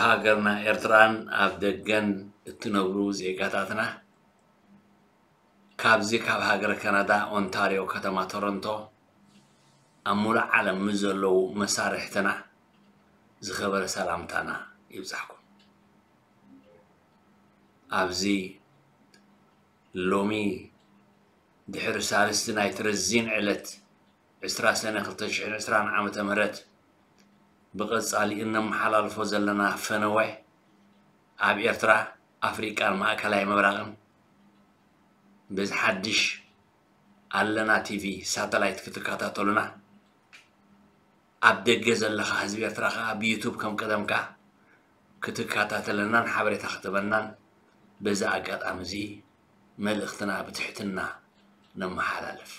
ሃገርና ኤርትራን ኣብ ደገን እትነብሩ ዜጋታትና፣ ካብዚ ካብ ሃገረ ካናዳ ኦንታርዮ ከተማ ቶሮንቶ ኣብ ሙሉእ ዓለም ምስ ዘለዉ መሳርሕትና ዝኸበረ ሰላምታና ይብጻሕኩም። ኣብዚ ሎሚ ድሕሪ ሳልስቲ ናይቲ ረዚን ዕለት ዕስራ ሰነ ክልተ ሽሕን ዕስራን ዓመተ ምህረት ብቐጻሊ እነመሓላልፎ ዘለና ፈነወ ኣብ ኤርትራ፣ ኣፍሪቃን ማእከላይ ምብራቕን በዚ ሓድሽ ኣለና ቲቪ ሳተላይት ክትከታተሉና፣ ኣብ ደገ ዘለኻ ህዝቢ ኤርትራ ከኣ ብዩቱብ ከም ቀደምካ ክትከታተለናን ሓበሬታ ክትበናን በዚ ኣጋጣሚ እዚ መልእኽትና ብትሕትና ነመሓላልፍ።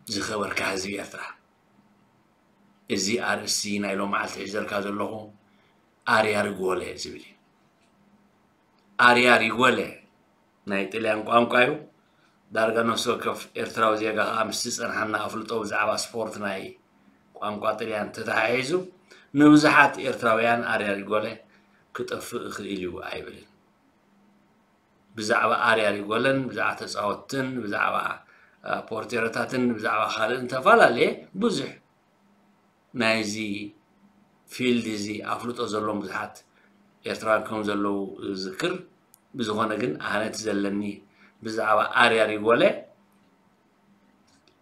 ዝኸበርካ ህዝቢ ኤርትራ፣ እዚ ኣርእስቲ ናይ ሎመዓልቲ ሒዘልካ ዘለኹ ኣርያ ሪጎለ ዝብል እዩ። ኣርያ ሪጎለ ናይ ጥልያን ቋንቋ እዩ። ዳርጋ ነፍሲ ወከፍ ኤርትራዊ ዜጋ ከኣ ምስቲ ዝጸንሓና ኣፍልጦ ብዛዕባ ስፖርት ናይ ቋንቋ ጥልያን ተተሓሒዙ ንብዙሓት ኤርትራውያን ኣርያ ሪጎለ ክጠፍእ ይኽእል እዩ ኣይብልን። ብዛዕባ ኣርያ ሪጎለን ብዛዕባ ተጻወትትን ብዛዕባ ፖርቴሮታትን ብዛዕባ ካልእን ተፈላለየ ብዙሕ ናይዚ ፊልድ እዚ ኣፍልጦ ዘለዎም ብዙሓት ኤርትራውያን ከም ዘለዉ ዝዝክር። ብዝኾነ ግን ኣነ እቲ ዘለኒ ብዛዕባ ኣርያ ሪጎለ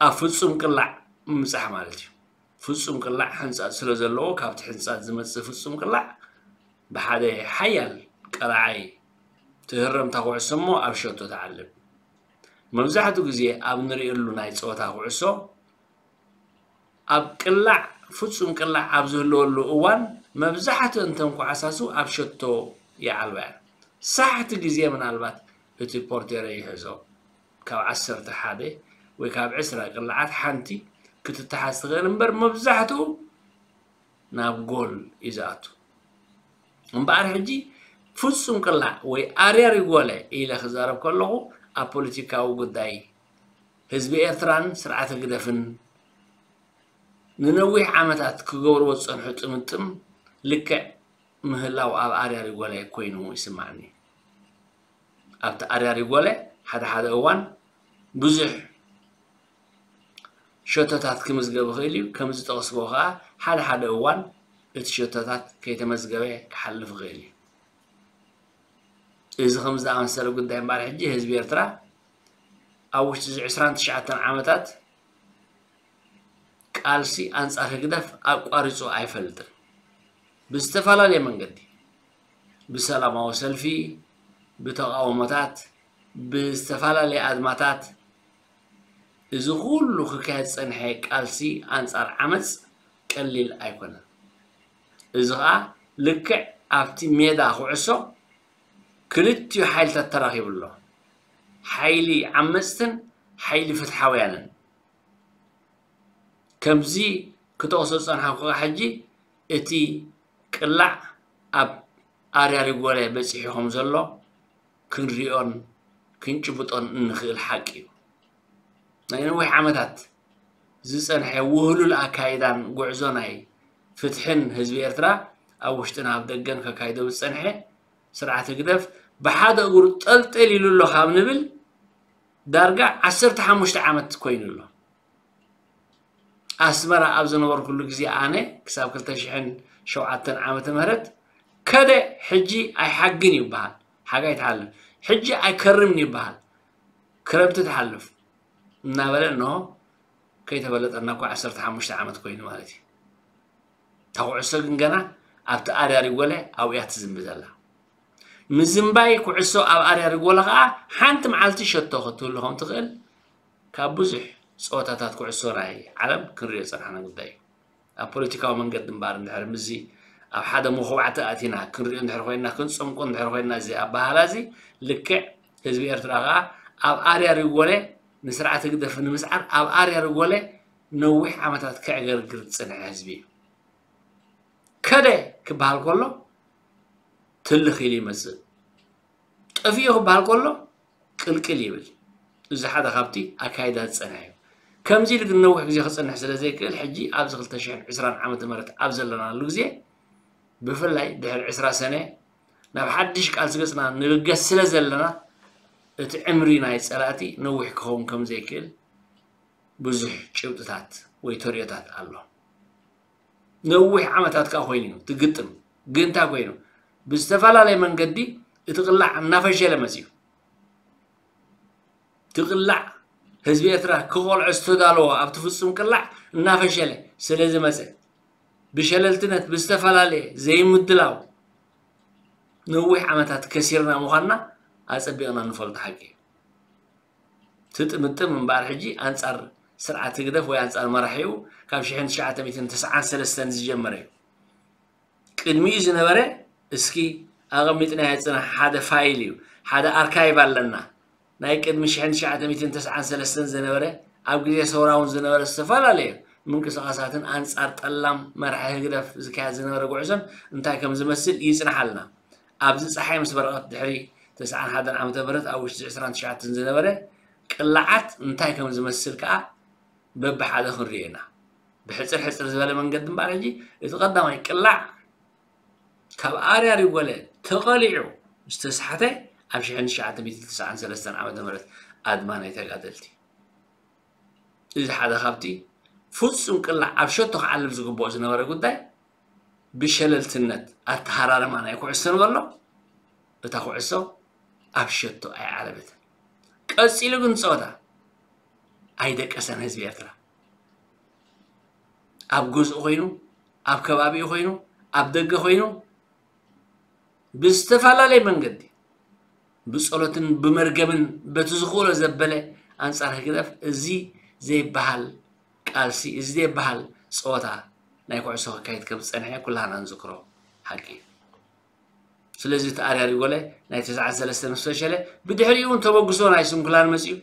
ኣብ ፍጹም ቅላዕ ምብጻሕ ማለት እዩ። ፍጹም ቅላዕ ሕንጻጽ ስለ ዘለዎ ካብቲ ሕንጻጽ ዝመጽእ ፍጹም ቅላዕ ብሓደ ሓያል ቀላዓይ ትህረምታ ኩዕሶ እሞ ኣብ ሸቶ ትዓልብ። መብዛሕትኡ ግዜ ኣብ ንርእየሉ ናይ ጸወታ ኩዕሶ ኣብ ቅላዕ ፍጹም ቅላዕ ኣብ ዝህልወሉ እዋን መብዛሕትኡ እንተን ኳዕሳሱ ኣብ ሸቶ ይዓልባ እየን። ሳሕቲ ግዜ ምናልባት እቲ ፖርቴሮ ይሕዞ ካብ ዓሰርተ ሓደ ወይ ካብ ዕስራ ቅላዓት ሓንቲ ክትተሓዝ ትኽእል እምበር መብዛሕትኡ ናብ ጎል እዩ ዝኣቱ። እምበኣር ሕጂ ፍጹም ቅላዕ ወይ ኣርያ ሪጎለ ኢለ ክዛረብ ከለኹ ኣብ ፖለቲካዊ ጉዳይ ህዝቢ ኤርትራን ስርዓት ህግደፍን ንነዊሕ ዓመታት ክገብርዎ ዝጸንሑ ጥምጥም ልክዕ ምህላው ኣብ ኣርያ ሪጎለ ኮይኑ ይስማዓኒ። ኣብቲ ኣርያ ሪጎለ ሓደ ሓደ እዋን ብዙሕ ሸቶታት ክምዝገብ ይኽእል እዩ። ከም ዝጠቕስዎ ከኣ ሓደ ሓደ እዋን እቲ ሸቶታት ከይተመዝገበ ክሓልፍ ይኽእል እዩ። እዚ ከም ዝኣመሰለ ጉዳይ እምበኣር ሕጂ ህዝቢ ኤርትራ ኣብ ውሽጢ እዚ ዕስራን ትሽዓተን ዓመታት ቃልሲ ኣንጻር ህግደፍ ኣቋሪጹ ኣይፈልጥን። ብዝተፈላለየ መንገዲ፣ ብሰላማዊ ሰልፊ፣ ብተቓውሞታት፣ ብዝተፈላለየ ኣድማታት፣ እዚ ኩሉ ክካየድ ዝጸንሐ ቃልሲ ኣንጻር ዓመጽ ቀሊል ኣይኮነን። እዚ ኸኣ ልክዕ ኣብቲ ሜዳ ኩዕሶ ክልቲኡ ሓይልታት ተራኺቡ ኣሎ። ሓይሊ ዓመጽትን ሓይሊ ፍትሓውያንን። ከምዚ ክጠቕሶ ዝጸንሓኩ ከኣ ሕጂ እቲ ቅላዕ ኣብ ኣርያ ሪጎለ በጺሑ ከም ዘሎ ክንሪኦን ክንጭብጦን እንኽእል ሓቂ እዩ። ናይ ነዊሕ ዓመታት ዝጸንሐ ውህሉል ኣካይዳን ጉዕዞ ናይ ፍትሕን ህዝቢ ኤርትራ ኣብ ውሽጥን ኣብ ደገን ከካይዶ ዝጸንሐ ስርዓት ህግደፍ ብሓደ እግሩ ጠልጠል ኢሉ ኣሎ ካብ ንብል ዳርጋ ዓሰርተ ሓሙሽተ ዓመት ኮይኑ ኣሎ። ኣስመራ ኣብ ዝነበርኩሉ ግዜ ኣነ ክሳብ ክልተ ሽሕን ሸውዓተን ዓመተ ምህረት ከደ ሕጂ ኣይሓግን ይበሃል፣ ሓጋይ ትሓልፍ፣ ሕጂ ኣይከርምን ይበሃል፣ ክረምቲ ትሓልፍ እናበለ እንሆ ከይተፈለጠና እኮ ዓሰርተ ሓሙሽተ ዓመት ኮይኑ ማለት እዩ። እታ ኩዕሶ ግን ገና ኣብቲ ኣርያ ሪጎለ ኣብኡ እያ ትዝንቢ ዘላ። ምዝንባይ ኩዕሶ ኣብ ኣርያ ሪጎለ ከኣ ሓንቲ መዓልቲ ሸቶ ክትህሉ ከም ትኽእል ካብ ብዙሕ ጸወታታት ኩዕሶ ናይ ዓለም ክንሪኦ ዝጸናሕና ጉዳይ እዩ። ኣብ ፖለቲካዊ መንገዲ እምበኣር እንድሕር ምስዚ ኣብ ሓደ መኹባዕቲ ኣቲና ክንሪኦ እንድሕር ኮይንና ክንጸምቆ እንድሕር ኮይንና እዚ ኣበሃህላ እዚ ልክዕ ህዝቢ ኤርትራ ከኣ ኣብ ኣርያ ሪጎለ ንስርዓት ህግደፍ ንምስዓር ኣብ ኣርያ ሪጎለ ነዊሕ ዓመታት ከዕገርግር ዝጸንሐ ህዝቢ እዩ። ከደ ክበሃል ከሎ ትልኽ ኢሉ ይመጽእ። ጠፊኡ ክበሃል ከሎ ቅልቅል ይብል። እዚ ሓደ ካብቲ ኣካይዳ ዝጸንሐ እዩ። ከምዚ ኢሉ ግን ነዊሕ ግዜ ክጸንሕ ስለ ዘይክእል ሕጂ ኣብዚ ክልተ ሽሕን ዕስራን ዓመተ ምህረት ኣብ ዘለናሉ ግዜ ብፍላይ ድሕሪ ዕስራ ሰነ ናብ ሓድሽ ቃልሲ ገጽና ንብገስ ስለ ዘለና፣ እቲ ዕምሪ ናይ ጸላእቲ ነዊሕ ክኸውን ከም ዘይክእል ብዙሕ ጭብጥታት ወይ ተርእዮታት ኣሎ። ነዊሕ ዓመታት ከኣ ኮይኑ እዩ፣ እቲ ግጥም ግን እንታይ ኮይኑ? ብዝተፈላለየ መንገዲ እቲ ቅላዕ እናፈሸለ መጺኡ። እቲ ቅላዕ ህዝቢ ኤርትራ ክቖልዖ ዝተዳለዎ ኣብቲ ፍጹም ቅላዕ እናፈሸለ ስለ ዝመጸ፣ ብሸለልትነት፣ ብዝተፈላለየ ዘይምድላው ነዊሕ ዓመታት ከሲርና ምዃንና ኣጸቢቕና ንፈልጦ ሓቂ እዩ። ትጥምጥም እምበኣር ሕጂ ኣንጻር ስርዓት ህግደፍ ወይ ኣንጻር መራሒኡ ካብ ሽሕን ትሽዓተ ሚእትን ተስዓን ሰለስተን ዝጀመረ እዩ። ቅድሚኡ ዝነበረ እስኪ ኣቐሚጥናዮ ጽናሕ ሓደ ፋይል እዩ፣ ሓደ ኣርካይቭ ኣለና። ናይ ቅድሚ ሽሕን ትሽዓተ ሚእትን ተስዓን ሰለስተን ዝነበረ፣ ኣብ ግዜ ሰውራ እውን ዝነበረ ዝተፈላለዩ ምንቅስቓሳትን ኣንጻር ጠላም መራሒ ህግደፍ ዝካየድ ዝነበረ ጉዕዞን እንታይ ከም ዝመስል ይጽናሓልና። ኣብዚ ጸሓይ ምስ በረቐት ድሕሪ ተስዓን ሓደን ዓመተ ምህረት ኣብ ውሽጢ ዕስራን ትሽዓተን ዝነበረ ቅላዓት እንታይ ከም ዝመስል ከኣ በብሓደ ክንርእዮ ኢና። ብሕጽር ሕጽር ዝበለ መንገዲ እምበኣር ሕጂ እቲ ቀዳማይ ቅላዕ ካብ ኣርያ ሪጎለ ተቐሊዑ ዝተስሓተ ኣብ ሽሕን ትሽዓተ ሚእትን ተስዓን ሰለስተን ዓመተ ምህረት ኣድማ ናይ ተጋደልቲ። እዚ ሓደ ካብቲ ፍጹም ቅላዕ ኣብ ሸቶ ክዓልብ ዝግብኦ ዝነበረ ጉዳይ ብሸለልትነት ኣተሃራርማ ናይ ኩዕሶ ንበሎ፣ እታ ኩዕሶ ኣብ ሸቶ ኣይዓለበትን። ቀጺሉ ግን ጸወታ ኣይደቀሰን ህዝቢ ኤርትራ። ኣብ ገዝኡ ኮይኑ፣ ኣብ ከባቢኡ ኮይኑ፣ ኣብ ደገ ኮይኑ ብዝተፈላለየ መንገዲ ብጸሎትን ብመርገምን በቲ ዝኽእሎ ዘበለ ኣንጻር ህግደፍ እዚ ዘይበሃል ቃልሲ፣ እዚ ዘይበሃል ጸወታ ናይ ኩዕሶ ክካየድ ከም ዝጸንሐ ኩላህና ንዝክሮ ሓቂ እዩ። ስለዚ እቲ ኣርያ ሪጎለ ናይ ተስዓን ሰለስተን ምስ ፈሸለ ብድሕሪኡ እውን ተበግሶ ናይ ስንኩላን መጺኡ።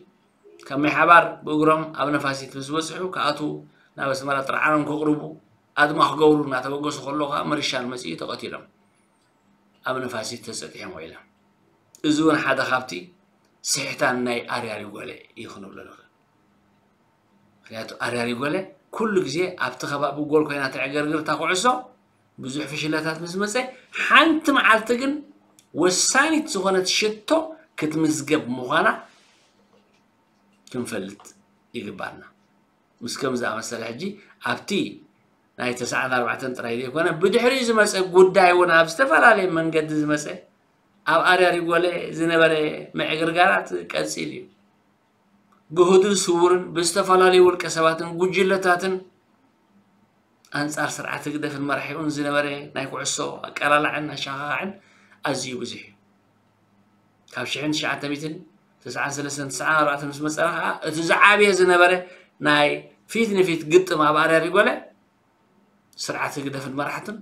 ካብ ማይ ሓባር ብእግሮም ኣብ ነፋሲት ምስ በጽሑ ክኣትዉ ናብ ኣስመራ ጥርዓኖም ከቕርቡ ኣድማ ክገብሩ እናተበገሱ ከለዉ ከዓ ምርሻን መጺኡ ተቐቲሎም ኣብ ነፋሲት ተጸጢሖም ውዒሎም። እዚ እውን ሓደ ካብቲ ስሕታን ናይ ኣርያ ሪጎለ እዩ ክንብሎ ንኽእል። ምክንያቱ ኣርያ ሪጎለ ኩሉ ግዜ ኣብቲ ከባቢ ጎል ኮይና ተዕገርግር እታ ኩዕሶ ብዙሕ ፍሽለታት ምስ መጸ ሓንቲ መዓልቲ ግን ወሳኒት ዝኾነት ሽቶ ክትምዝገብ ምዃና ክንፈልጥ ይግባና። ምስ ከም ዝኣመሰለ ሕጂ ኣብቲ ናይ ተስዓን ኣርባዕተን ጥራይ ዘይኮነ ብድሕሪኡ ዝመጸ ጉዳይ እውን ኣብ ዝተፈላለየ መንገዲ ዝመጸ ኣብ ኣርያ ሪጎለ ዝነበረ ምዕግርጋራት ቀጺሉ እዩ። ብህዱእ ስውርን ብዝተፈላለዩ ውልቀ ሰባትን ጉጅለታትን ኣንጻር ስርዓት ህግደፍን መራሒኡን ዝነበረ ናይ ኩዕሶ ኣቀላላዕን ኣሸኻኻዕን ኣዝዩ ብዙሕ እዩ። ካብ ሽሕን ትሽዓተ ሚእትን ተስዓን ሰለስተን ተስዓን ኣርባዕተን ምስ መጸና ከኣ እቲ ዝዓበየ ዝነበረ ናይ ፊት ንፊት ግጥም ኣብ ኣርያ ሪጎለ ስርዓት ህግደፍን መራሕቱን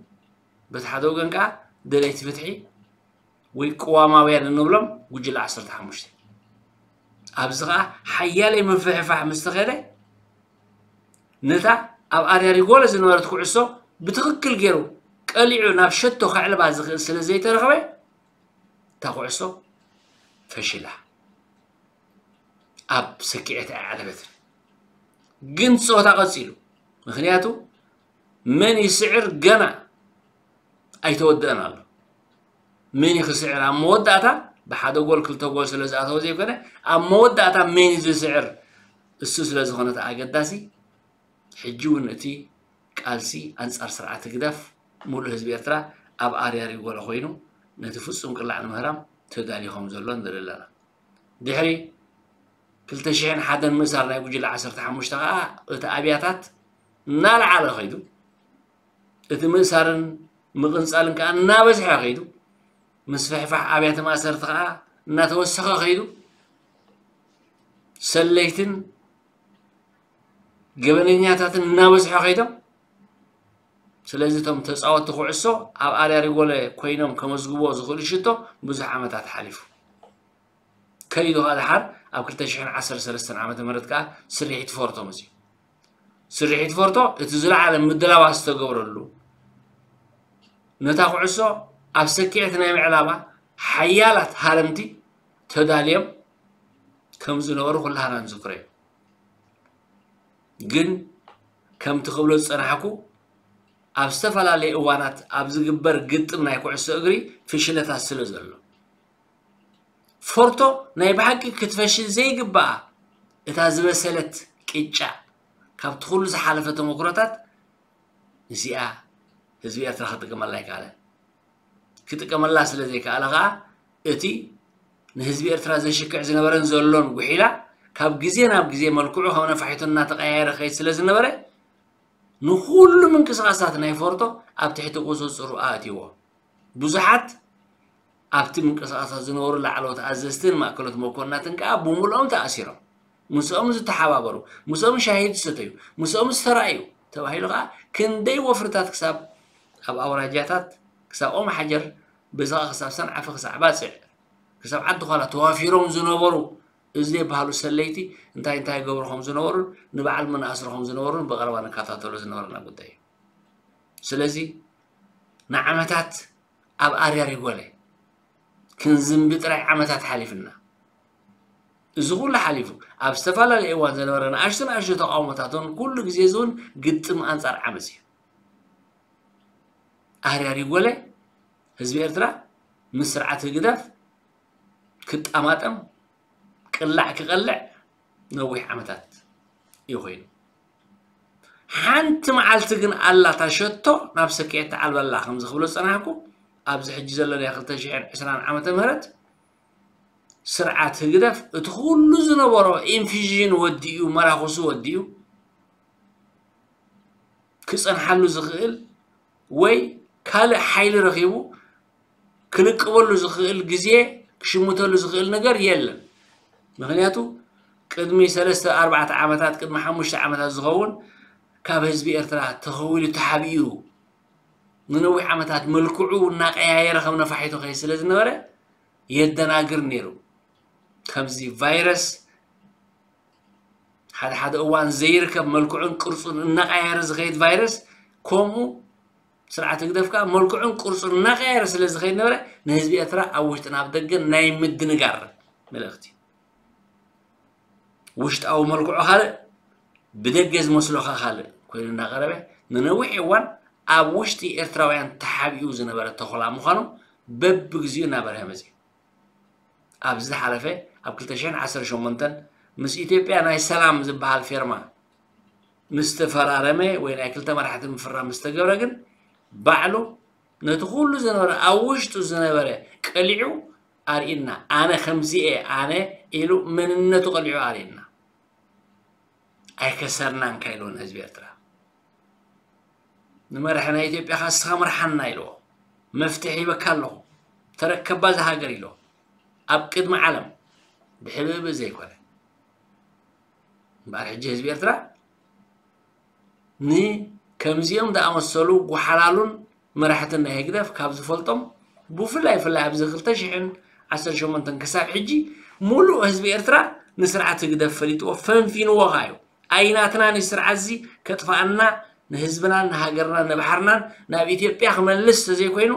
በቲ ሓደ ወገን ከኣ ደለይቲ ፍትሒ ወይ ቅዋማውያን እንብሎም ጉጅለ ዓሰርተ ሓሙሽተ። ኣብዚ ከኣ ሓያለይ ምፍሕፋሕ ምስ ተኸደ ነታ ኣብ ኣርያ ሪጎለ ዝነበረት ኩዕሶ ብትኽክል ገይሩ ቀሊዑ ናብ ሸቶ ከዕልባ ዝኽእል ስለ ዘይተረኽበ እታ ኩዕሶ ፈሽላ ኣብ ሰኪዐት ኣይዓለበትን። ግን ጸወታ ቀጺሉ። ምኽንያቱ መን ይስዕር ገና ኣይተወደአን ኣሎ። መን እዩ ክስዕር ኣብ መወዳእታ ብሓደ ጎል ክልተ ጎል ስለ ዝኣተወ ዘይኮነ ኣብ መወዳእታ መን እዩ ዝስዕር እሱ ስለ ዝኾነ እቲ ኣገዳሲ ሕጂ እውን እቲ ቃልሲ ኣንጻር ስርዓት ህግደፍ ሙሉእ ህዝቢ ኤርትራ ኣብ ኣርያ ሪጎለ ኮይኑ ነቲ ፍጹም ቅላዕ ንምህራም ተዳልዩ ከም ዘሎ ንርኢ ኣለና። ድሕሪ ክልተ ሽሕን ሓደን ምእሳር ናይ ጉጅለ ዓሰርተ ሓሙሽተ ከኣ እቲ ኣብያታት እናለዓለ ከይዱ፣ እቲ ምእሳርን ምቕንጻልን ከኣ እናበዝሐ ከይዱ፣ ምስፍሕፋሕ ኣብያተ ማእሰርቲ ከኣ እናተወሰኸ ከይዱ፣ ሰለይትን ገበነኛታትን እናበዝሐ ከይዶም፣ ስለዚ እቶም ተጻወትቲ ኩዕሶ ኣብ ኣርያ ሪጎለ ኮይኖም ከመዝግብዎ ዝኽእሉ ሽቶ ብዙሕ ዓመታት ሓሊፉ። ከይዱ ከኣ ደሓር ኣብ ክልተ ሽሕን ዓሰርተ ሰለስተን ዓመተ ምህረት ከኣ ስርሒት ፎርቶ መጺኡ። ስርሒት ፎርቶ እቲ ዝለዓለ ምድላዋት ዝተገብረሉ፣ ነታ ኩዕሶ ኣብ ሰኪዐት ናይ ምዕላባ ሓያላት ሃረምቲ ተዳልዮም ከም ዝነበሩ ኩላህና ንዝክሮ እዩ። ግን ከምቲ ክብሎ ዝጸናሕኩ ኣብ ዝተፈላለየ እዋናት ኣብ ዝግበር ግጥም ናይ ኩዕሶ እግሪ ፍሽለታት ስለ ዘሎ፣ ፎርቶ ናይ ብሓቂ ክትፈሽል ዘይግብኣ እታ ዝበሰለት ቅጫ፣ ካብቲ ኩሉ ዝሓለፈ ተመክሮታት እዚኣ ህዝቢ ኤርትራ ክጥቀመላ ኣይከኣለን። ክጥቀመላ ስለ ዘይከኣለ ከኣ፣ እቲ ንህዝቢ ኤርትራ ዘሽክዕ ዝነበረን ዘሎን ጉሒላ ካብ ግዜ ናብ ግዜ መልክዑ ከም ነፋሒቶ እናተቐያየረ ክኸይድ ስለ ዝነበረ፣ ንኹሉ ምንቅስቓሳት ናይ ፎርቶ ኣብ ትሕቲ ቁጽጽሩ ኣእትይዎ። ብዙሓት ኣብቲ ምንቅስቓሳት ዝነበሩ ላዕለዎት ኣዘዝትን ማእከሎት መኮንናትን ከኣ ብምልኦም ተኣሲሮም። ምስኦም ዝተሓባበሩ፣ ምስኦም ሻሂ ዝሰተዩ፣ ምስኦም ዝተራእዩ ተባሂሉ ከኣ ክንደይ ወፍርታት ክሳብ ኣብ ኣውራጃታት፣ ክሳብ ኦም ሓጀር፣ በዚ ከኣ ክሳብ ሰንዓፈ፣ ክሳዕ ባጽዕ፣ ክሳብ ዓዲ ዃላ ተዋፊሮም ዝነበሩ እዚ ዘይበሃሉ ሰለይቲ እንታይ እንታይ ይገብሩ ከም ዝነበሩን ንበዓል መን ኣስሩ ከም ዝነበሩን ብቐረባ ንከታተሎ ዝነበረና ጉዳይ እዩ። ስለዚ ንዓመታት ኣብ ኣርያር ይጎለ ክንዝንቢ ጥራይ ዓመታት ሓሊፍና። እዚ ኩሉ ሓሊፉ ኣብ ዝተፈላለየ እዋን ዝነበረ ንኣሽቱ ንኣሽቱ ተቃውሞታትን ኩሉ ግዜ እዚ እውን ግጥም ኣንጻር ዓመፅ እዩ። ኣርያር ይጎለ ህዝቢ ኤርትራ ምስ ስርዓት ህግደፍ ክጣማጠም ቅላዕ ክቐልዕ ነዊሕ ዓመታት እዩ ኮይኑ። ሓንቲ መዓልቲ ግን ኣላ እታ ሸቶ ናብ ሰኪዐት ትዓልበላ ከምዚ ክብሎ ዝጸናሕኩ ኣብዚ ሕጂ ዘለናዮ ክልተ ሽሕን ዕስራን ዓመተ ምህረት ስርዓት ህግደፍ እቲ ኩሉ ዝነበሮ ኢንፊዥን ወዲኡ መራኽሱ ወዲኡ ክጸንሓሉ ዝኽእል ወይ ካልእ ሓይሊ ረኺቡ ክልቅበሉ ዝኽእል ግዜ ክሽምተሉ ዝኽእል ነገር የለን። ምክንያቱ ቅድሚ ሰለስተ ኣርባዕተ ዓመታት ቅድሚ ሓሙሽተ ዓመታት ዝኸውን ካብ ህዝቢ ኤርትራ ተኸዊሉ ተሓቢኡ ንነዊሕ ዓመታት መልክዑ እናቀያየረ ከም ነፋሒቶ ከይ ስለ ዝነበረ የደናግር ነይሩ። ከምዚ ቫይረስ ሓደ ሓደ እዋን ዘይርከብ መልክዑን ቅርጹን እናቀያየረ ዝኸይድ ቫይረስ ከምኡ ስርዓት ህግደፍ ከዓ መልክዑን ቅርጹን እናቀያየረ ስለ ዝኸይድ ነበረ ንህዝቢ ኤርትራ ኣብ ውሽጥን ኣብ ደገን ናይ ምድንጋር መልእኽቲ ውሽጣዊ መልክዑ ካልእ ብደገ ዝመስሎካ ካልእ ኮይኑ እናቀረበ ንነዊሕ እዋን ኣብ ውሽጢ ኤርትራውያን ተሓቢኡ ዝነበረ ተኹላ ምዃኑ በብግዚኡ እናበርሀ መፅዩ። ኣብዚ ዝሓለፈ ኣብ ክልተ ሽሕን ዓሰርተ ሸሞንተን ምስ ኢትዮጵያ ናይ ሰላም ዝበሃል ፌርማ ምስ ተፈራረመ ወይ ናይ ክልተ መራሕቲ ምፍራም ምስ ተገብረ ግን ባዕሉ ነቲ ኩሉ ዝነበረ ኣብ ውሽጡ ዝነበረ ቀሊዑ ኣርእና ኣነ ከምዚኤ ኣነ ኢሉ መንነቱ ቀሊዑ ኣርእና ኣይከሰርናን ካይልዎ ንህዝቢ ኤርትራ ንመራሒ ናይ ኢትዮጵያ ካ እስኻ ምርሓና ኢልዎ መፍትሒ ሂበካ ኣለኹ ተረከባ ዝሃገር ኢልዎ ኣብ ቅድሚ ዓለም ብሕብእብእ ዘይኮነ እምበኣር ሕጂ ህዝቢ ኤርትራ ንከምዚኦም ዝኣመሰሉ ጓሓላሉን መራሕትን ናይ ህግደፍ ካብ ዝፈልጦም ብፍላይ ፍላይ ኣብዚ ክልተ ሽሕን ዓሰርተ ሸሞንተን ክሳብ ሕጂ ሙሉእ ህዝቢ ኤርትራ ንስርዓት ህግደፍ ፈሊጥዎ ፈንፊንዎ ኸዓ እዩ ኣይናትና ንስርዓት እዚ ከጥፍኣና ንህዝብናን ንሃገርናን ንባሕርናን ናብ ኢትዮጵያ ክመልስ ተዘይኮይኑ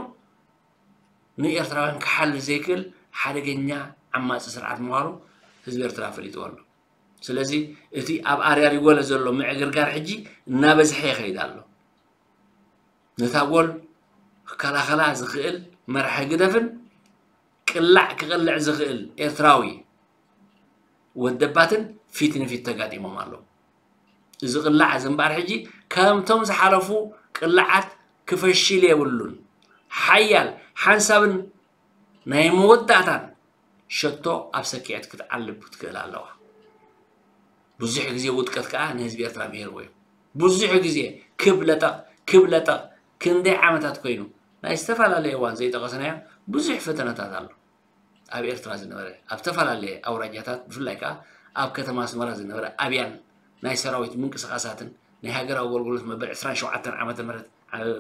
ንኤርትራውያን ክሓል ዘይክእል ሓደገኛ ዓማፂ ስርዓት ምዃኑ ህዝቢ ኤርትራ ፈሊጥዎ ኣሎ። ስለዚ እቲ ኣብ ኣርያር ይጎለ ዘሎ ምዕግርጋር ሕጂ እናበዝሐ ይኸይድ ኣሎ። ነታ ጎል ክከላኸላ ዝኽእል መራሒ ግደፍን ቅላዕ ክቐልዕ ዝኽእል ኤርትራዊ ወደባትን ፊት ንፊት ተጋጢሞም ኣለዉ። እዚ ቅላዕ እዚ እምበኣር ሕጂ ከምቶም ዝሓለፉ ቅላዓት ክፈሽል የብሉን። ሓያል ሓንሳብን ናይ መወዳእታን ሸቶ ኣብ ሰኪዐት ክትዓልብ ክትክእል ኣለዋ። ብዙሕ ግዜ ውድቀት ከዓ ንህዝቢ ኤርትራ ምሂርዎ እዩ። ብዙሕ ግዜ ክብ ለጠቕ ክብ ለጠቕ ክንደይ ዓመታት ኮይኑ ናይ ዝተፈላለየ እዋን ዘይጠቐስናዮ ብዙሕ ፈተነታት ኣሎ። ኣብ ኤርትራ ዝነበረ ኣብ ዝተፈላለየ ኣውራጃታት ብፍላይ ከዓ ኣብ ከተማ ኣስመራ ዝነበረ ኣብያን ናይ ሰራዊት ምንቅስቃሳትን ናይ ሃገራዊ ኣገልግሎት መበል ዕስራን ሸውዓተን ዓመተ ምህረት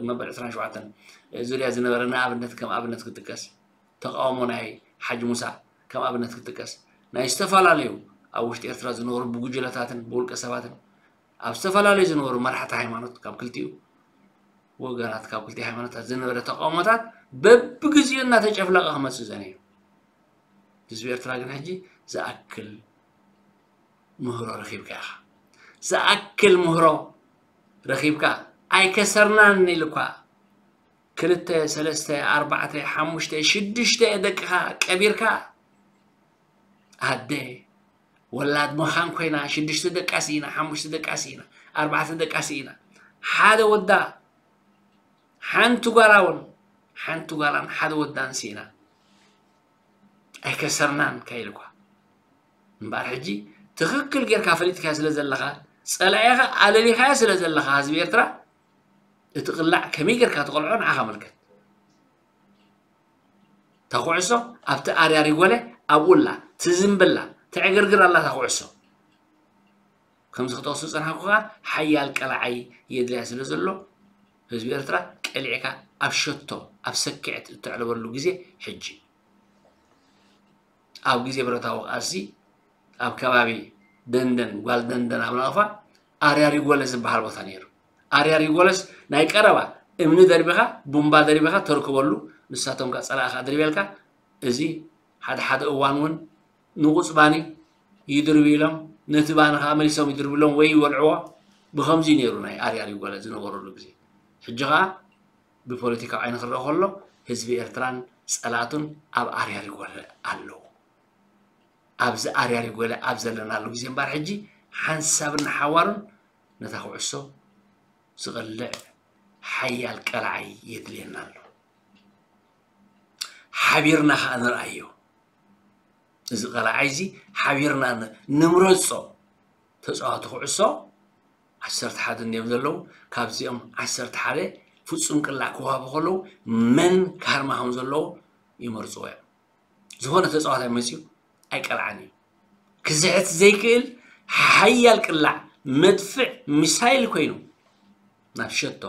መበል ዕስራን ሸውዓተን ዙርያ ዝነበረ ንኣብነት ከም ኣብነት ክጥቀስ ተቃውሞ ናይ ሓጂ ሙሳ ከም ኣብነት ክጥቀስ ናይ ዝተፈላለዩ ኣብ ውሽጢ ኤርትራ ዝነበሩ ብጉጅለታትን ብውልቀ ሰባትን ኣብ ዝተፈላለዩ ዝነበሩ መራሕቲ ሃይማኖት ካብ ክልቲኡ ወገናት ካብ ክልቲኡ ሃይማኖታት ዝነበረ ተቃውሞታት በብግዚኡ እናተጨፍለቐ ክመፅእ ዘነዩ ህዝቢ ኤርትራ ግን ሕጂ ዝኣክል ምህሮ ረኺብካ ኢኻ ዝኣክል ምህሮ ረኺብካ ኣይከሰርናን ኢልኳ። ክልተ፣ ሰለስተ፣ ኣርባዕተ፣ ሓሙሽተ፣ ሽዱሽተ ደቅኻ ቀቢርካ፣ ኣደ ወላድ መኻን ኮይና፣ ሽዱሽተ ደቃ ስኢና፣ ሓሙሽተ ደቃ ስኢና፣ ኣርባዕተ ደቃ ስኢና፣ ሓደ ወዳ፣ ሓንቲ ጓላ እውን፣ ሓንቲ ጓላን ሓደ ወዳን ስኢና። ኣይከሰርናን ከይልኳ እምበኣር፣ ሕጂ ትኽክል ጌርካ ፈሊጥካዮ ስለ ዘለኻ፣ ጸላኢኻ ኣለሊኻዮ ስለ ዘለኻ፣ ህዝቢ ኤርትራ፣ እቲ ቅላዕ ከመይ ጌርካ ትቐልዖ ንዓኻ መልከት። እታ ኩዕሶ ኣብቲ ኣርያ ሪጎለ ኣብኡ ኣላ፣ ትዝምብላ፣ ተዕግርግር ኣላ እታ ኩዕሶ። ከምዚ ክጠቕሱ ዝጸናሕኩ ከኣ፣ ሓያል ቀላዓይ የድልያ ስለ ዘሎ፣ ህዝቢ ኤርትራ ቀሊዕካ ኣብ ሸቶ፣ ኣብ ሰኪዐት እተዕልበሉ ግዜ ሕጂ። ኣብ ግዜ ብረታዊ ቃልሲ ኣብ ከባቢ ደንደን፣ ጓል ደንደን ኣብ ናቕፋ ኣርያ ሪጎለ ዝበሃል ቦታ ነይሩ። ኣርያ ሪጎለስ ናይ ቀረባ እምኒ ደርቢኻ፣ ቡምባ ደርቢኻ ተርክበሉ፣ ንሳቶም ከኣ ጸላእኻ ድርቤልካ። እዚ ሓደ ሓደ እዋን እውን ንቑጽባኒ ይድርቡ ኢሎም፣ ነቲ ባኒ ከኣ መሊሶም ይድርቡ ኢሎም ወይ ይወልዕዎ። ብኸምዚ ነይሩ ናይ ኣርያ ሪጎለ ዝነበረሉ ግዜ። ሕጂ ከኣ ብፖለቲካዊ ዓይኒ ክረአ ከሎ፣ ህዝቢ ኤርትራን ጸላእቱን ኣብ ኣርያ ሪጎለ ኣለዉ። ኣብዚ ኣርያ ሪጎለ ኣብ ዘለናሉ ግዜ እምበኣር፣ ሕጂ ሓንሳብን ሓዋሩን ነታ ኩዕሶ ዝቐልዕ ሓያል ቀላዓይ የድልየና ኣሎ። ሓቢርና ከኣ ንርኣዮ። እዚ ቀላዓይ እዚ ሓቢርና ን-፣ ንምረጾ። ተጻዋቲ ኩዕሶ ዓሰርተ ሓደ እንድዮም ዘለዉ። ካብዚኦም ዓሰርተ ሓደ ፍጹም ቅላዕ ክወሃቡ ከለዉ፣ መን ክሃርማ ከም ዘለዎ ይመርጽዎ እዮም። ዝኾነ ተጻዋታይ መጺኡ ኣይቀልዓን እዩ። ክዝሕት ዘይክእል ሓያል ቅላዕ፣ መድፍዕ፣ ሚሳይል ኮይኑ ናብ ሸቶ፣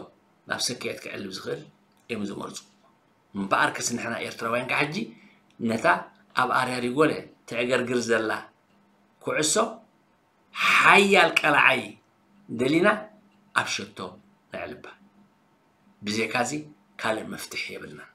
ናብ ሰክዔት ክዕልብ ዝኽእል እዮም ዝመርጹ። እምበኣርከስ ንሕና ኤርትራውያን ካብ ሕጂ ነታ ኣብ ኣርያ ሪጎለ ተዕገርግር ዘላ ኩዕሶ ሓያል ቀላዓይ ደሊና ኣብ ሸቶ ነዕልባ። ብዘይካዚ ካልእ መፍትሒ የብልናን።